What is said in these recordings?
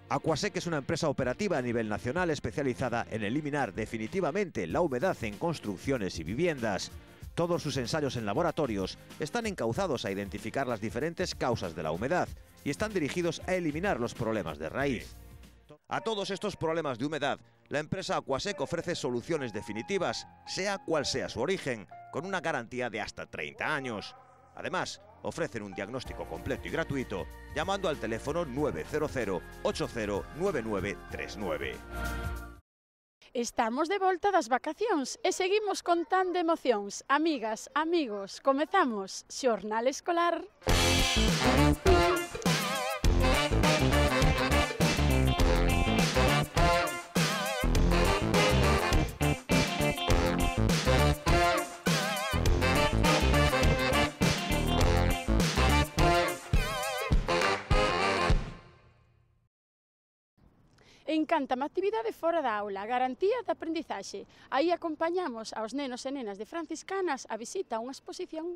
Aquasec es una empresa operativa a nivel nacional especializada en eliminar definitivamente la humedad en construcciones y viviendas. Todos sus ensayos en laboratorios están encauzados a identificar las diferentes causas de la humedad y están dirigidos a eliminar los problemas de raíz. A todos estos problemas de humedad, la empresa Aquasec ofrece soluciones definitivas, sea cual sea su origen, con una garantía de hasta 30 años. Además, ofrecen un diagnóstico completo y gratuito llamando al teléfono 900 809939. Estamos de volta das vacacións e seguimos contando emocións. Amigas, amigos, comezamos Xornal Escolar. Encántame a actividade fora da aula, garantía de aprendizaxe. Aí acompañamos aos nenos e nenas de Franciscanas a visita a unha exposición.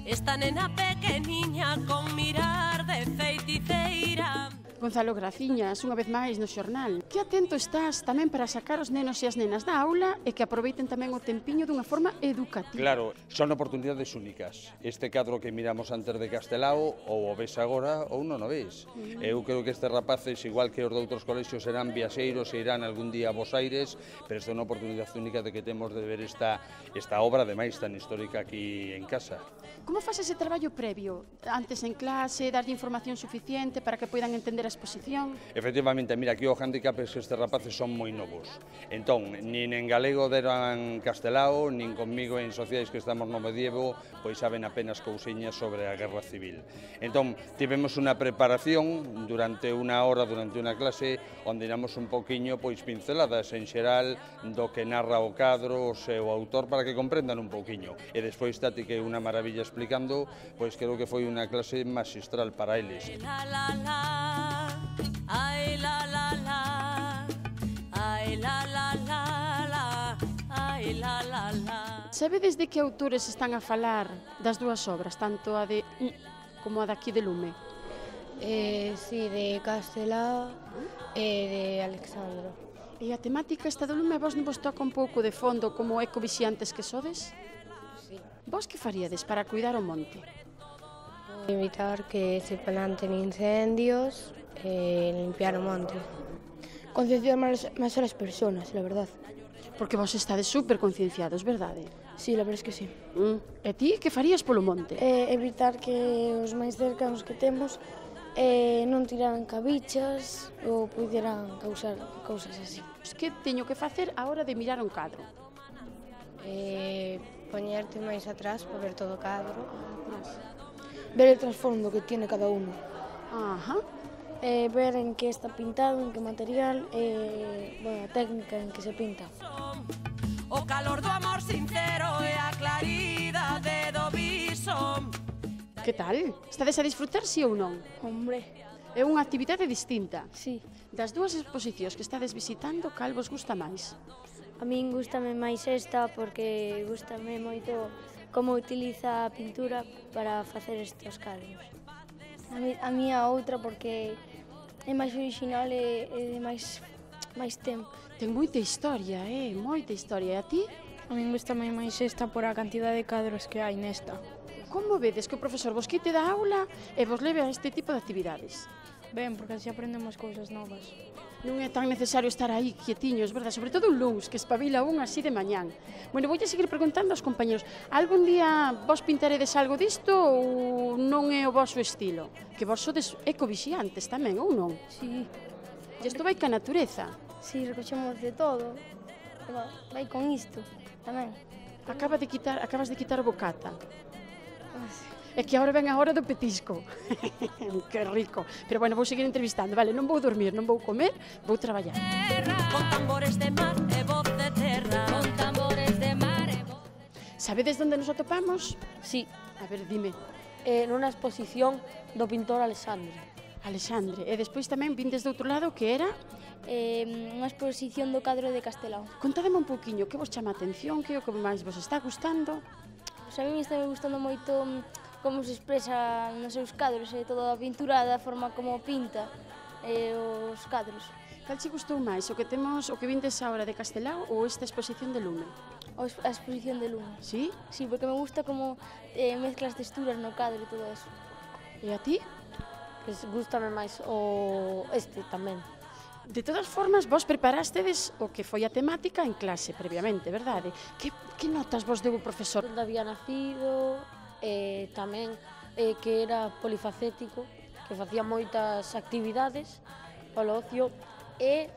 Esta nena pequeniña con mirar de feiticeira. Gonzalo Graciñas, unha vez máis no xornal. Que atento estás tamén para sacar os nenos e as nenas da aula e que aproveiten tamén o tempiño dunha forma educativa. Claro, son oportunidades únicas. Este cadro que miramos antes de Castelao ou o ves agora ou non o ves. Eu creo que estes rapaces, igual que os de outros colexios, serán viaxeiros e irán algún día a Bos Aires, pero esta é unha oportunidade única de que temos de ver esta obra, ademais, tan histórica aquí en casa. Como faz ese traballo previo? Antes en clase, darlle información suficiente para que poidan entender a exposición? Efectivamente, mira, aquí o handicap é que estes rapaces son moi novos. Entón, nin en galego deran Castelao, nin conmigo en sociais que estamos no medievo, pois saben apenas cousiñas sobre a Guerra Civil. Entón, tivemos unha preparación durante unha hora, durante unha clase, onde iramos un poquinho, pois, pinceladas en xeral do que narra o cadro, o seu autor, para que comprendan un poquinho. E despois, Tati, que é unha maravilla explicando, pois creo que foi unha clase magistral para eles. Ai la la la, ai la la la la, ai la la la. Sabedes de que autores están a falar das dúas obras, tanto a de como a daqui de Lume? Sí, de Castelao e de Alexandro. E a temática esta do Lume, vos non vos toca un pouco de fondo como ecovixiantes que sodes? Sí. Vos que faríades para cuidar o monte? Evitar que se planten incendios e limpiar o monte. Concienciar máis a las personas, la verdad. Porque vos estades super concienciados, verdade? Sí, la verdad es que sí. E ti que farías polo monte? Evitar que os máis cercanos que temos non tiraran cabichas ou puderan causar cousas así. Que teño que facer a hora de mirar un cadro? Poñerte máis atrás para ver todo o cadro. Ver el trasfondo que tiene cada uno. Ajá. Ver en que está pintado, en que material, bueno, a técnica en que se pinta. O calor do amor sincero e a claridade do viso. Que tal? Estades a disfrutar, si ou non? Hombre, É unha actividade distinta. sí. Das dúas exposicións que estades visitando, cal vos gusta máis? A min gústame máis esta porque gústame moito como utiliza a pintura para facer estes cadros. A mí a outra porque é máis original e de máis tempo. Ten moita historia, moita historia. E a ti? A min gustame máis esta por a cantidade de cadros que hai nesta. Como vedes que o profesor vos quite da aula e vos leve a este tipo de actividades? Ben, porque así aprendemos cousas novas. Non é tan necesario estar aí quietiños, verdad? Sobre todo un luns, que espabila un así de mañán. Bueno, voulle seguir preguntando aos compañeros. Algún día vos pintaredes algo disto ou non é o vosso estilo? Que vos sodes ecovixiantes tamén, ou non? Sí, E isto vai ca natureza. sí, recoxemos de todo. Vai con isto tamén. Acabas de quitar o bocata. É que agora ven a hora do petisco. Que rico. Pero bueno, vou seguir entrevistando, vale? Non vou dormir, non vou comer, vou traballar. Con tambores de mar e voz de terra. Con tambores de mar e voz. Sabedes onde nos atopamos? Sí, A ver, dime. nunha exposición do pintor Alexandre. Alexandre, e despois tamén vindes do outro lado que era... Unha exposición do cadro de Castelao. Contádeme un pouquiño, que vos chama a atención, que é o que máis vos está gustando? Pois a mí me está gustando moito como se expresa nos seus cadros e toda a pintura da forma como pinta os cadros. Cal che gustou máis, o que vindes agora de Castelao ou esta exposición de Lume? A exposición de Lume. Sí? Sí, porque me gusta como mezcla as texturas no cadro e todo eso. E a ti? Pois gústame máis este tamén. De todas formas, vos preparastedes o que foi a temática en clase previamente, verdade? Que notas vos deu o profesor? Onde había nacido, tamén que era polifacético, que facía moitas actividades polo ocio, e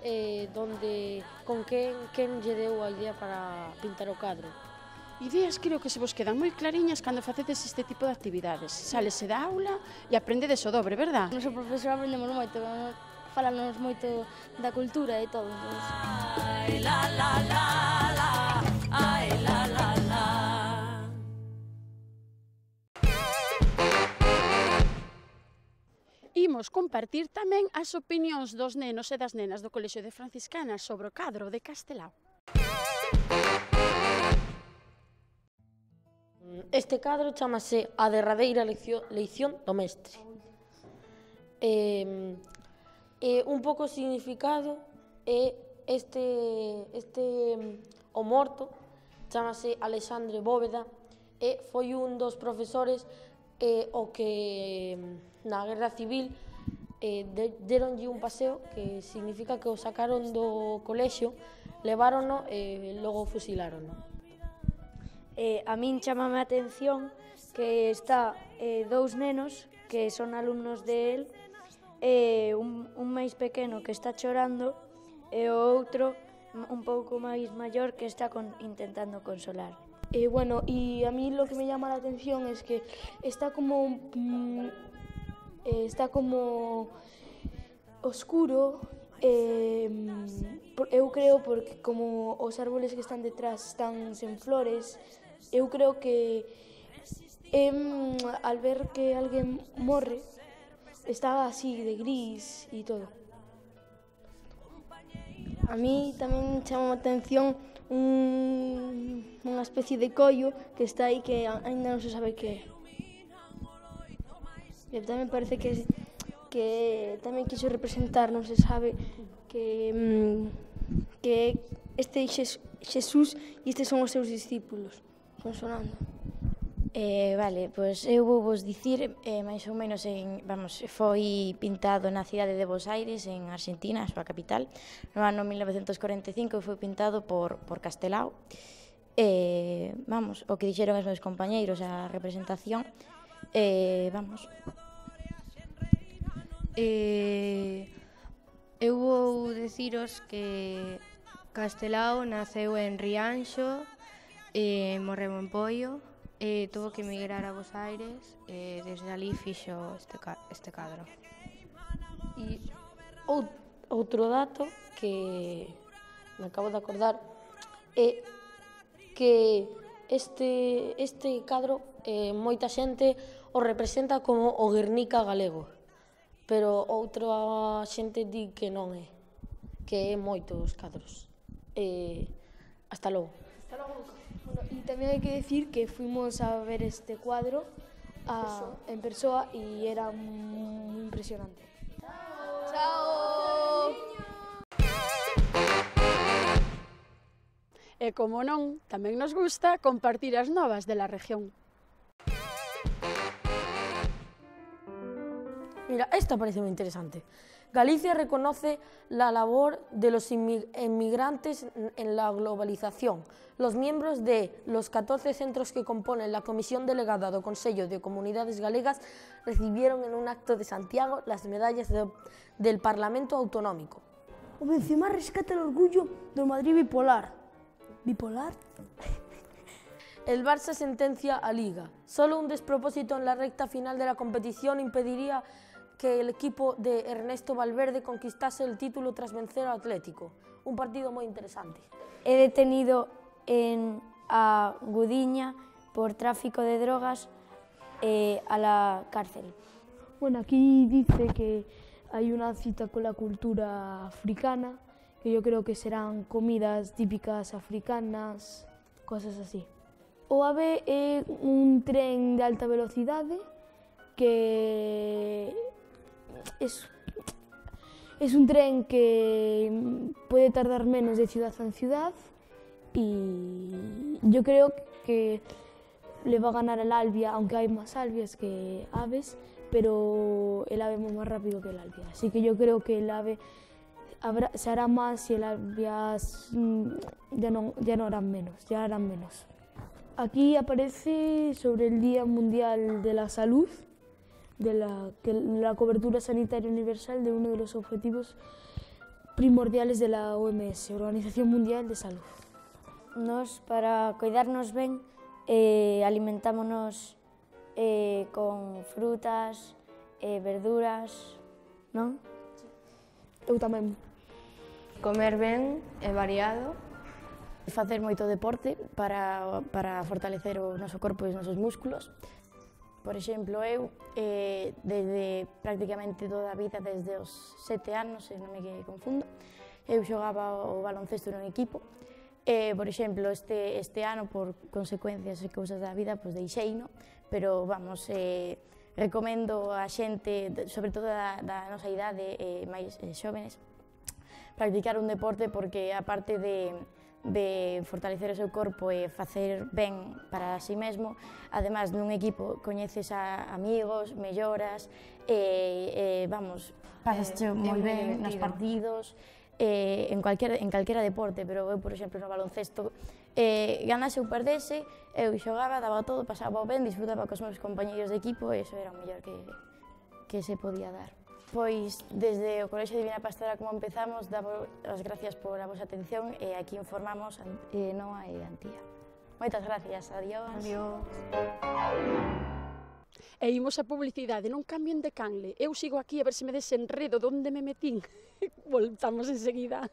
con quen lle deu a idea para pintar o cadro. Ideas creo que se vos quedan moi clariñas cando facedes este tipo de actividades. Salese da aula e aprendedes o dobre, verdad? O noso profesor aprendemos moito, falanos moito da cultura e todo. Ai, la, la, la, la, ai, la, la, la. Imos compartir tamén as opinións dos nenos e das nenas do Colexio de Franciscanas sobre o cadro de Castelao. Este cadro chamase A derradeira leición do mestre. Un pouco significado é o morto chamase Alexandre Bóveda e foi un dos profesores o que na Guerra Civil deronlle un paseo que significa que o sacaron do colexio, levárono e logo fusilárono. A min chamame a atención que está dous nenos que son alumnos de él, un máis pequeno que está chorando e o outro un pouco máis maior que está intentando consolar. Bueno, y a mí lo que me llama la atención es que está como oscuro, eu creo porque como os árboles que están detrás están sen flores, eu creo que al ver que alguén morre está así de gris e todo. A mí tamén chama a atención unha especie de collo que está aí que ainda non se sabe que é. E tamén parece que tamén quiso representar, non se sabe, que este Xesús e estes son os seus discípulos, consonando. Vale, pois eu vou vos dicir, máis ou menos, foi pintado na cidade de Buenos Aires, en Argentina, a súa capital, no ano 1945, foi pintado por Castelao. O que dixeron os meus compañeiros, a representación, Eu vou deciros que Castelao naceu en Rianxo, morreu en Poio, tuvo que emigrar a Buenos Aires e desde ali fixo este cadro. E outro dato que me acabo de acordar é que este cadro moita xente o representa como o Guernica galego, pero outra xente di que non é, que é moitos cadros. Hasta logo. Hasta logo. Bueno, y también hay que decir que fuimos a ver este cuadro en Persoa y era muy impresionante. ¡Chao! E como non, tamén nos gusta compartir as novas de la región. Mira, esta parece muy interesante. Galicia reconoce la labor de los inmigrantes en la globalización. Los miembros de los 14 centros que componen la Comisión Delegada do Consello de Comunidades Galegas recibieron en un acto de Santiago las medallas del Parlamento Autonómico. O Benzema rescata el orgullo del Madrid bipolar. ¿Bipolar? El Barça sentencia a Liga. Solo un despropósito en la recta final de la competición impediría que el equipo de Ernesto Valverde conquistase el título tras vencer al Atlético. Un partido muy interesante. He detenido a Gudiña por tráfico de drogas a la cárcel. Bueno, aquí dice que hay una cita con la cultura africana, que yo creo que serán comidas típicas africanas, cosas así. O AVE é un tren de alta velocidade que es un tren que puede tardar menos de ciudad en ciudad y yo creo que le va a ganar el Albia, aunque hay más Albias que aves, pero el AVE es más rápido que el Albia. Así que yo creo que el AVE se hará más y el Albia ya no harán menos, ya harán menos. Aquí aparece sobre el Día Mundial de la Salud, de la cobertura sanitaria universal, de uno de los objetivos primordiales de la OMS, Organización Mundial de Salud. Nos, para cuidarnos ben, alimentámonos con frutas, verduras, non? Eu tamén. Comer ben e variado. Facer moito deporte para fortalecer o noso corpo e os nosos músculos. Por exemplo, eu, desde prácticamente toda a vida, desde os 7 anos, se non me confundo, eu xogaba o baloncesto nun equipo. Por exemplo, este ano, por consecuencias e cousas da vida, pois deixeino, pero, vamos, recomendo a xente, sobre todo da nosa idade, máis xóvenes, practicar un deporte porque, aparte de fortalecer o seu corpo e facer ben para si mesmo, ademais nun equipo coñeces a amigos, melloras, vamos, pasasche moi ben nos partidos, en calquera deporte, pero eu, por exemplo, no baloncesto, ganase ou perdese, eu xogaba, daba todo, pasaba ben, disfrutaba cos meus compañeiros de equipo e iso era o mellor que se podía dar. Pois, desde o Colexio Divina Pastora, como empezamos, damos as gracias por a vosa atención e aquí informamos Noa e Antía. Moitas gracias, adiós. Adiós. E imos a publicidade, non cambien de canle. Eu sigo aquí a ver se me desenredo de onde me metín. Voltamos enseguida.